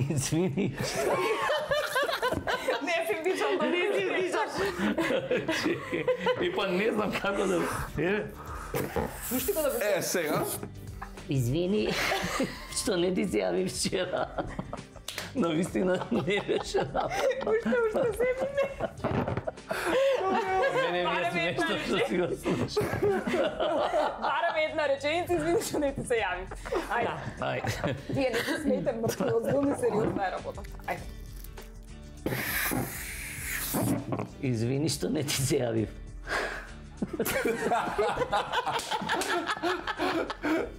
Извини. Не си вдишам, да не си вдишаш. И па не знам како да... Пушти го да вдишаш. Сега. Извини, што не ти се јави вчера. Но вистина не беше направено. Уште се не. Мене ми е смешно што си го слушаш. Барам една реченица, извини што не ти се јави. Ајде. Вие не се смејте, мртво, озбилно сериозна е работа. Ајде. Извини што не ти се јавив.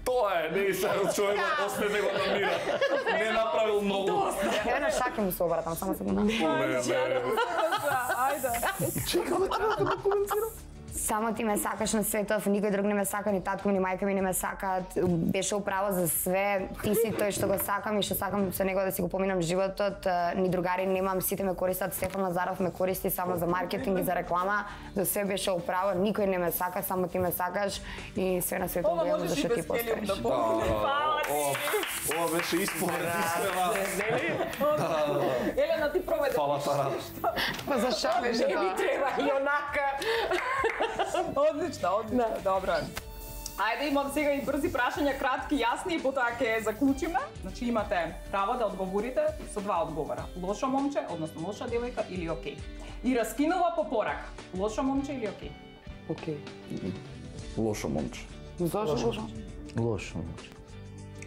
Тоа е, не и сега човекот остане го намира. Не направил многу. Ја на шаки му се обратам, само секунда. Чекам да коментирам. Само ти ме сакаш на светов, никој друг не ме сака, ни татко ми, ни мајка ми не ме сакаат. Беше управо за све, ти си тој што го сакам и што сакам со него да си го поминам животот. Ни другари немам, сите ме користат, Стефан Лазаров ме користи само за маркетинг и за реклама. За све беше управо, никој не ме сака, само ти ме сакаш и све на светот го имам за што ти постоиш. Ова беше исповед искрена. Елена, ти проведе. Фала Тара. Па за шо беше Не ми треба и онака. Одлично, добро. Ајде, имам сега и брзи прашања, кратки, јасни и потоа ќе заклучиме. Значи имате право да одговорите со два одговора. Лошо момче, односно лоша девојка или окей. И раскинува по порака. Лошо момче или окей? Окей. Лошо момче. Зашо лошо? Лошо момче.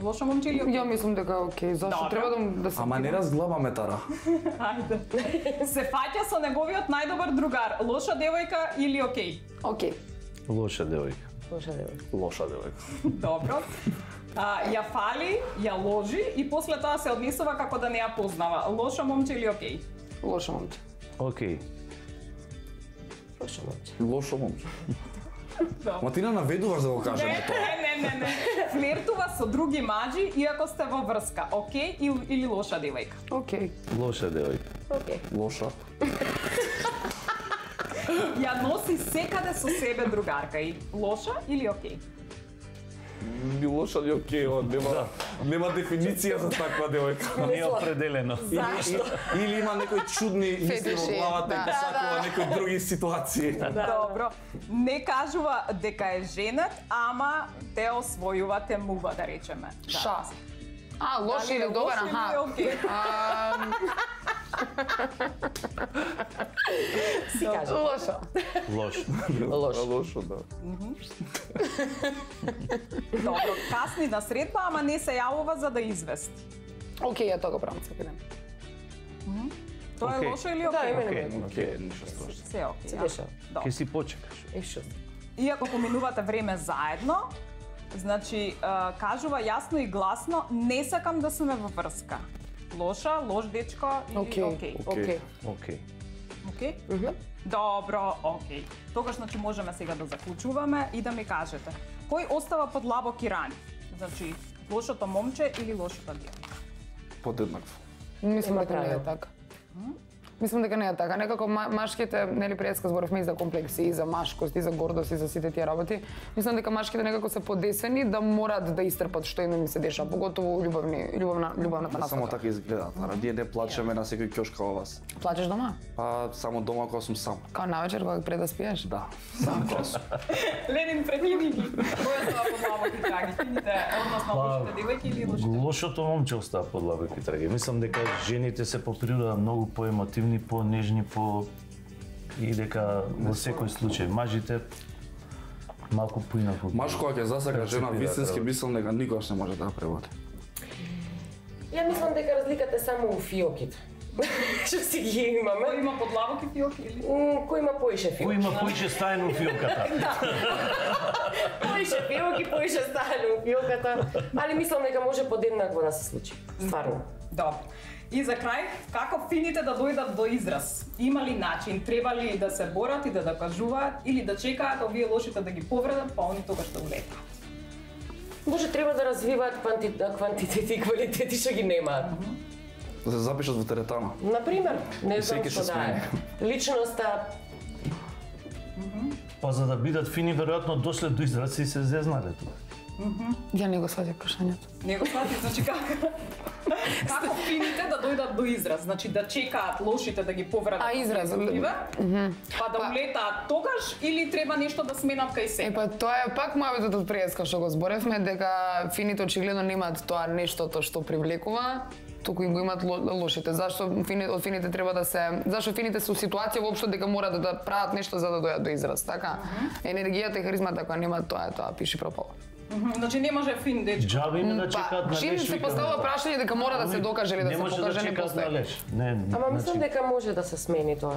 Лошо момче или окей? Ја мислам дека окей. Зашо треба да се... Ама не разглабаме Тара. Ајде. Се фаќа со неговиот најдобар другар. Лоша девојка или окей? Окей. Лоша девојка. Лоша девојка. Лоша девојка. Добро. Ја фали, ја ложи и после тоа се однесува како да не ја познава. Лошо момче или окей? Лошо момче. Окей. Лошо момче. Лошо момче. Ма ти не наведуваш да го кажеме тоа. Не. Флиртува со други маџи иако сте во врска. Окей или лоша девојка? Окей. Лоша девојка. Окей. Лоша. Ја носи секаде со себе другарка и лоша или окей? Би лоша ли окей, нема дефиниција за таква девојка. Не е определено. Или има некои чудни мисли во главата и посакува некои други ситуации. Добро. Не кажува дека е женет, ама те освојува темува, да речеме. Ша. Лош или добар, аха. Си кажа. Лошо. Лошо. Лошо, да. Добро, касни на средба, ама не се јавува за да извести. Окей, ја тоа го правам секој ден. Тоа е лошо или окей? Окей, ништо страшно. Се окей. Се деша. Ке си почекаш. Ешо. Иако поминувате време заедно, значи кажува јасно и гласно, не сакам да сме во врска. Лоша, лош дечко или окей? Окей. Окей. Окей? Добро, окей. Тогаш значи можеме сега да заклучуваме и да ми кажете. Кој остава под лабоки рани? Значи, лошото момче или лошата девојка? Подеднакво. Мислам дека не е така. Мислам дека не е така. Некако машките, нели предска зборовме и за комплекси, и за машкост, и за гордост, и за сите тие работи. Мислам дека машките некако се подесени да морат да истрпат што им се деша, поготово љубовната насока. Само така изгледа. Ние не плачеме на секој ќошка во вас. Плачеш дома? Па само дома кога сум сам. Као навечер кога пред да спиеш? Да, сам кога сум. Ленин прекини ги. Кој остава под лабоки траги? Фините, односно лошите девојки или лошите? Лошото момче остава под лабоки траги. Мислам дека жените се по природа многу поемотивни, по-нежни, и дека во секој случај мажите малку поинаку. Маж кога ќе засака жена вистински, мислам дека никогаш не може да ја преводи. Ја мислам дека разликата е само у фиоките. Што си ги имаме? Кој има под лабоки фиоки или? Кој има поише фиоки? Кој има поише стаено у фиоката? Поише фиоки, поише стаено у фиоката. Али мислам дека може подеднакво да се случи. Стварно. Добро. И за крај, како фините да дојдат до израз? Има ли начин? Треба ли да се борат и да докажуваат или да чекаат овие лошите да ги повредат, па они тогаш да улетаат? Може треба да развиваат квантитети и квалитети што ги немаат. Да се запишат во теретана. Например, не знам Секи што се да е. Личноста. Па за да бидат фини, веројатно дошле до израз и се зезнале тука. Ја не го сватив прашањето. Не го сватив, значи како фините да дојдат до израз? Значи да чекаат лошите да ги повредат. Израз. Па да улетаат тогаш или треба нешто да сменат кај себе? Па тоа е пак мавитот од преска што го зборевме, дека фините очигледно немаат тоа нештото што привлекува, туку им го имаат лошите. Зашто од фините треба да се... Зашто фините се у ситуација воопшто дека морат да прават нешто за да дојдат до израз, така? Енергијата и харизмата кога немаат тоа пиши пропало. Значи не може фин дечко. Джаби има да чекаат на леш. Чим се поставува прашање дека мора да се докаже или да се покаже, не постои. Ама мислам дека може да се смени тоа.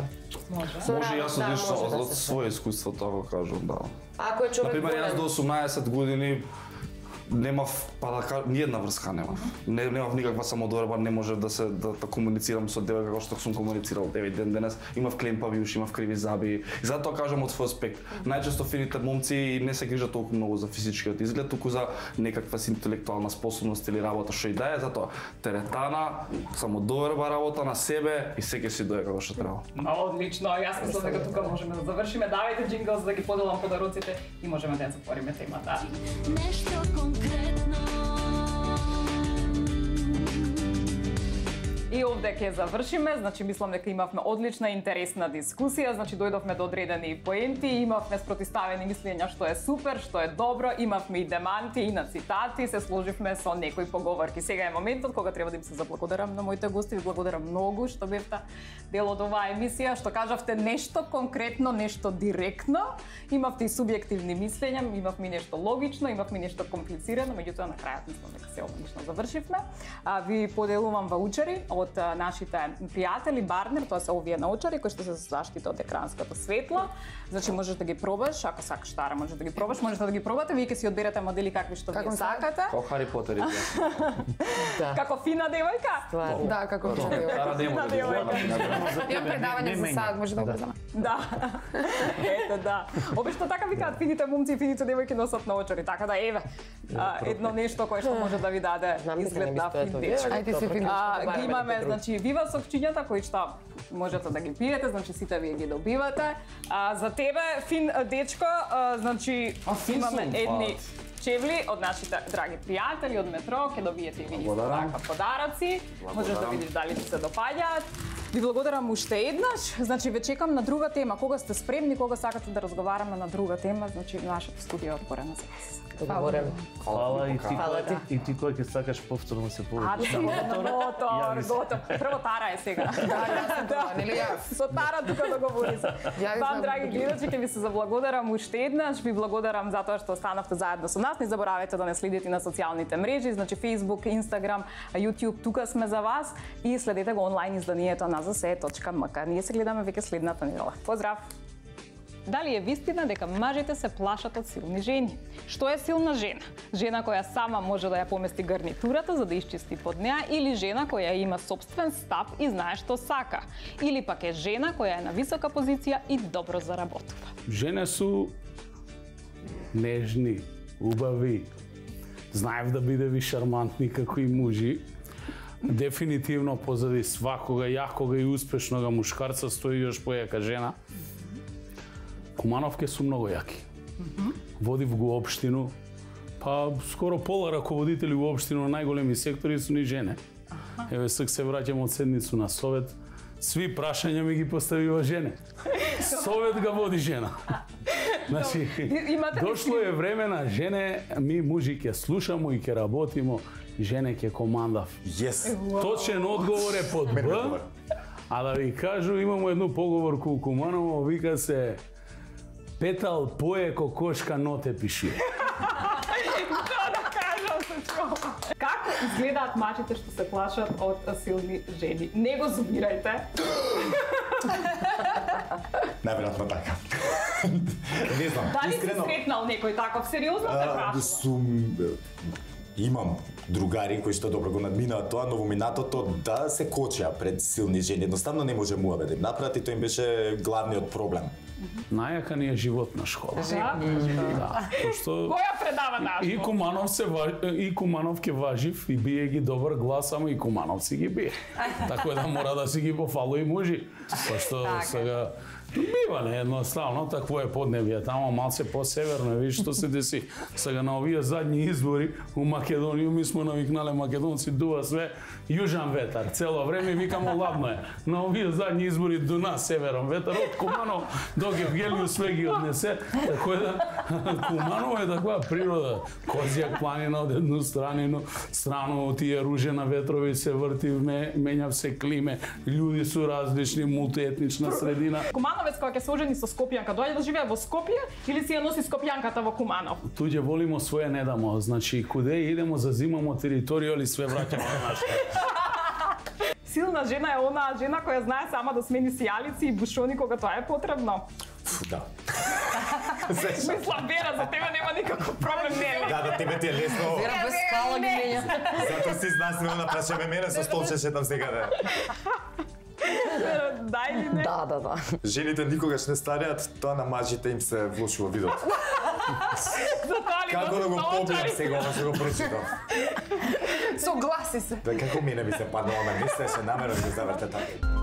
Може јас од своје искуство тоа го кажувам, да. Ако е човек например, јас до 18 години немав, па да кажам, ни една врска немав. Немав никаква самодоверба, не можев да комуницирам со девојка како што сум комуницирал 9 ден денес. Имав клемпави уши, имав криви заби. И затоа кажам од свој аспект. Најчесто фините момци не се грижат толку многу за физичкиот изглед, туку за некаква интелектуална способност или работа што и да е, затоа теретана, самодоверба, работа на себе и секој си дое како што треба. Одлично, јас мислам дека тука можеме да завршиме. Давајте джингл за да ги поделам подароците и можеме да ја затвориме темата. Нешто конкретно. И овде ќе завршиме, значи мислам дека имавме одлична интересна дискусија, значи дојдовме до одредени поенти, имавме спротивставени мислења што е супер, што е добро, имавме и деманти и на цитати, се сложивме со некои поговорки. Сега е моментот кога треба да им се заблагодарам на моите гости, ви благодарам многу што бевте дел од оваа емисија, што кажавте нешто конкретно, нешто директно, имавте и субјективни мислења, имавме и нешто логично, имавме и нешто комплицирано, меѓутоа на крајот мислам дека се одлично завршивме. Ви поделувам ваучери од нашите пријатели Барнер, тоа се овие научари кои што се заштита од екранското светло. Значи можеш да ги пробаш, ако сакаш Тара, можеш да ги пробаш, можете да ги пробате, вие ќе си одберете модели какви што ви сакате. Како Хари Потер и Како фина девојка? Да, како фина девојка. Имам предавање за сад, може да го земам. Да. Ето да. Обично така викаат фините момци и фините девојки носат научари, така да еве едно нешто кое што може да ви даде изглед на фин дечко. Ајде си фини. Ги имаме значи вива сокчињата кои што можете да ги пиете, значи сите вие ги добивате. За тебе фин дечко, значи имаме едни чевли од нашите драги пријатели од метро, ќе добиете и ви така подароци. Можеш да видиш дали ти се допаѓаат. Ви благодарам уште еднаш. Значи ве чекам на друга тема. Кога сте спремни, кога сакате да разговараме на друга тема, значи нашето студио е отворено за вас. Договорено. Фала и ти кој ќе сакаш повторно се повеќе. Готов. Прво Тара е сега. Да, нели јас? Со Тара тука договори се. Вам, драги гледачи, ќе ви се заблагодарам уште еднаш. Ви благодарам затоа што останавте заедно со нас. Не заборавајте да не следите на социјалните мрежи, значи Facebook, Instagram, YouTube, тука сме за вас и следете го онлайн изданието на zase.mk. Ние се гледаме веќе следната недела. Поздрав! Дали е вистина дека мажите се плашат од силни жени? Што е силна жена? Жена која сама може да ја помести гарнитурата за да исчисти под неа или жена која има собствен став и знае што сака? Или пак е жена која е на висока позиција и добро заработува? Жене су нежни, убави, знаев да бидеви шармантни како и мужи. Дефинитивно позади свакога јакога и успешнога мушкарца стои још појака жена. Кумановке су многу јаки. Водив го општину, па скоро пола раководители у општину на најголеми сектори су ни жене. Еве сак се враќам од седницу на совет, сви прашања ми ги поставива жене. Совет га води жена. Значи, дошло е време на жене, ми мужи ќе слушамо и ќе работимо, жене ќе командав. Точен одговор е под Б, а да ви кажу, имамо едну поговорку у Куманово, вика се Петал пое ко кошка ноте пиши. Да кажам се чува. Како изгледаат мачите што се плашат од силни жени? Не го зубирајте. Најверојатно така. Не знам, дали искрено... си сретнал некој таков? Сериозно те прашам. Имам другари кои што добро го надминаа тоа, но во минатото да се кочеа пред силни жени. Едноставно не може муаве да им направат и тоа им беше главниот проблем. Најака ни е животна школа. Да. Пошто која предава наш? И Куманов ке важив и бие ги добар глас, ама и Куманов си ги бие. Така да мора да си ги пофало и мужи. Пошто сега бива не едноставно, такво е поднебје, тамо малце по-северно, видиш што се деси. Сега на овие задни избори у Македонија ми сме навикнале македонци дува све јужан ветар, цело време викамо ладно е. На овие задни избори дуна северон ветар од Куманово до Евгелију све ги однесе, така да Куманово е таква природа. Козјак планина од едну страну тие ружена ветрови се врти, менјав се климе, луѓе су различни, мултиетнична средина. Кумановец кој ќе се ожени со Скопјанка, доаѓа да живее во Скопје или си ја носи Скопјанката во Куманов? Туѓе волимо, своје не дамо. Значи, куде идемо, зазимамо територија или све враќамо на нашата. Силна жена е онаа жена која знае сама да смени сијалици и бушони кога тоа е потребно. Да. Мислам, Вера, за тебе нема никаков проблем, не. Да, тебе ти е лесно. Вера без скала ги менја. Затоа си знаснено прашаме мене со столче шетам секаде. Да или не? Да. Жените никогаш не стареат, тоа на мажите им се влошува видот. Како да го побијам сега, ова што го прочитав. Согласи се. Да, како мене би се паднало на место, се намерно да го заврте така.